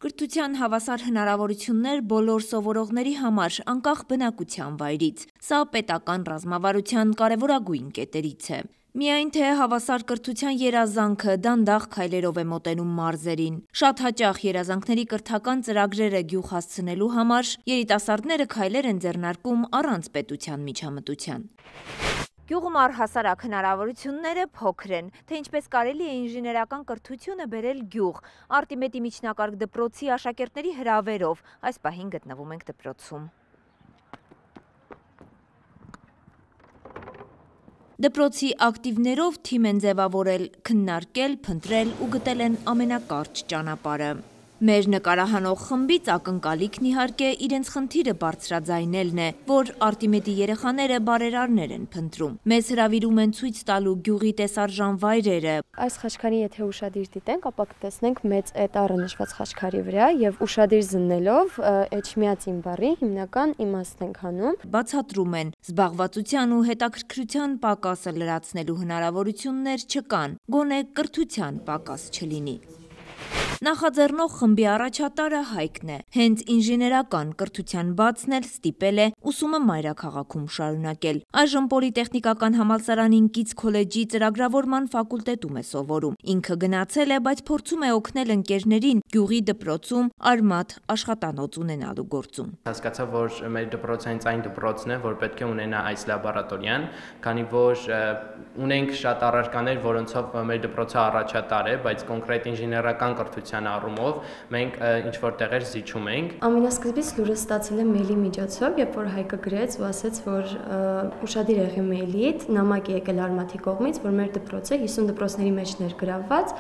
Կրթության հավասար հնարավորություններ բոլոր սովորողների համար, անկախ բնակության վայրից։ Սա պետական ռազմավարության կարևորագույն կետերից է։ Միայն թե հավասար կրթության երազանքը դանդաղ քայլերով է մոտենում մարզերին։ Շատ հաճախ երազանքների կրթական ծրագրերը գյուղ հասցնելու համար երիտասարդները քայլեր են ձեռնարկում առանց պետության միջամտության։ Գյուղում առհասարակ հնարավորությունները փոքր են, թե ինչպես կարելի է ինժեներական կրթությունը բերել գյուղ։ Արտիմեդի միջնակարգ դպրոցի աշակերտների հրավերով այս պահին գտնվում ենք դպրոցում։ Դպրոցի ակտիվներով թիմ են ձևավորել, քննարկել, փնտրել ու գտել են ամենակարճ ճանապարհը։ Մեր նկարահանող խմբից ակնկալիքն իհարկե իրենց խնդիրը բարձրաձայնելն է, որ Արտիմեդի երեխաները բարերարներ են փնտրում։ Մեզ հրավիրում են ցույց տալու գյուղի տեսարժան վայրերը։ Այս խաչքարին եթե ուշադիր դիտենք, ապա կտեսնենք մեծ էտառը նշված խաչքարի վրա եւ ուշադիր զննելով էջմիածին բառի հիմնական իմաստն ենք հանում։ Բացատրում են, զբաղվածության ու հետաքրքրության պակասը լրացնելու հնարավորություններ չկան, գոնե կրթության պակաս չլինի։ Նախաձեռնող խմբի առաջատարը Հայկն է։ Հենց ինժեներական կրթության բացն էլ ստիպել է ուսումը մայրաքաղաքում շարունակել։ Այժմ Պոլիտեխնիկական համալսարանին կից քոլեջի ծրագրավորման ֆակուլտետում է սովորում։ Ինքը գնացել է, բայց փորձում է օգնել ընկերներին գյուղի դպրոցում արմատ աշխատանոց ունենալու գործում։ Հասկացա, որ մեր դպրոցը հենց այն դպրոցն է, որ պետք է ունենա այս լաբորատորիան, քանի որ ունենք շատ առարկաներ, որոնցով մեր դպրոցը առաջատար է, բայց կոնկրետ ինժեներական կրթության առումով մենք ինչ որ տեղեր զիջում ենք։ Ամենասկզբից լուրը ստացել եմ մեյլի միջոցով, երբ որ Հայկը գրեց ու ասաց, որ ուշադիր եղի մեյլիդ, նամակ է եկել Արմաթի կողմից, որ մեր դպրոցը 50 դպրոցների մեջ ներգրավված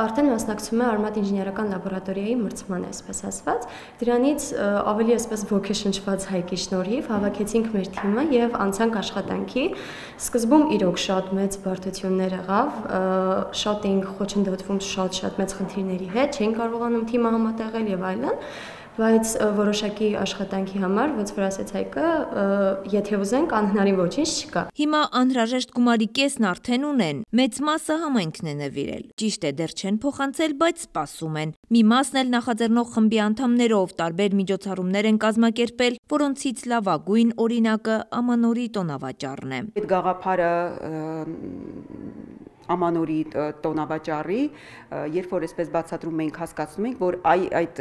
արդեն մասնակցում է Արմաթ ինժեներական լաբորատորիայի մրցման, այսպես ասված։ Դրանից ավելի այսպես ոգեշնչված Հայկի շնորհիվ հավաքեցինք մեր թիմը եւ անցանք աշխատանքի։ Սկզբում իրոք շատ մեծ բարդություններ եղավ, շատ էինք խոչընդոտվում շատ մեծ խնդիրների հետ, չէին կարողանում թիմը համատեղել եւ այլն, բայց որոշակի աշխատանքի համար, ոնց որ ասեց Հայկը, եթե ուզենք, անհնարին ոչինչ չկա։ Հիմա անհրաժեշտ գումարի կեսն արդեն ունեն, մեծ մասը համայնքն է նվիրել։ Ճիշտ է, դեռ չեն փոխանցել, բայց սպասում են։ Մի մասն էլ նախաձեռնող խմբի անդամներով տարբեր միջոցառումներ են կազմակերպել, որոնցից լավագույն օրինակը Ամանորի տոնավաճառն է։ Այդ գաղափարը Ամանորի տոնավաճառի, երբ որ այսպես բացատրում ենք, հասկացնում ենք, որ այդ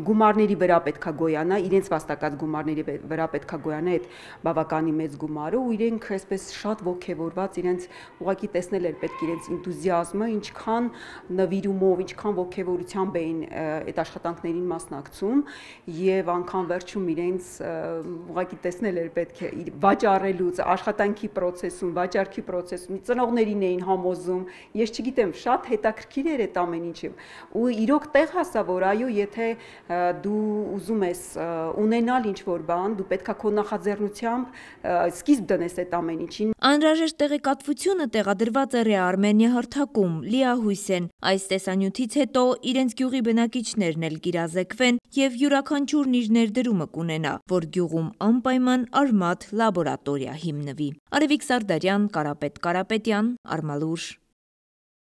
գումարների վրա պետքա գոյանա, իրենց վաստակած գումարների վրա պետքա գոյանա այդ բավականի մեծ գումարը ու իրենք այսպես շատ ոգևորված իրենց ուղղակի տեսնել էր պետք իրենց ինտուզիազմը, ինչքան նվիրումով, ինչքան ոգևորությամբ էին այդ աշխատանքներին մասնակցում եւ անգամ վերջում իրենց ուղղակի տեսնել էր պետք է վաճառելուց, աշխատանքի process-ում, վաճառքի process-ում ծնողներին էին համոզում, ես չգիտեմ, շատ հետաքրքիր էր այդ ամեն ինչը ու իրոք տեղ հասա, որ այո, եթե դու ուզում ես ունենալ ինչ-որ բան, դու պետքա քո նախաձեռնությամբ սկիզբ դնես այդ ամեն ինչին։ Անհրաժեշտ տեղեկատվությունը տեղադրված է Ռեարմենիա հարթակում, լիահույս են այս տեսանյութից հետո իրենց գյուղի բնակիչներն էլ կիրազեկվեն եւ յուրաքանչյուրն իր ներդրումը կունենա, որ գյուղում անպայման արմատ լաբորատորիա հիմնվի։ Արևիկ Սարդարյան, Կարապետ Կարապետյան, Արմալուր։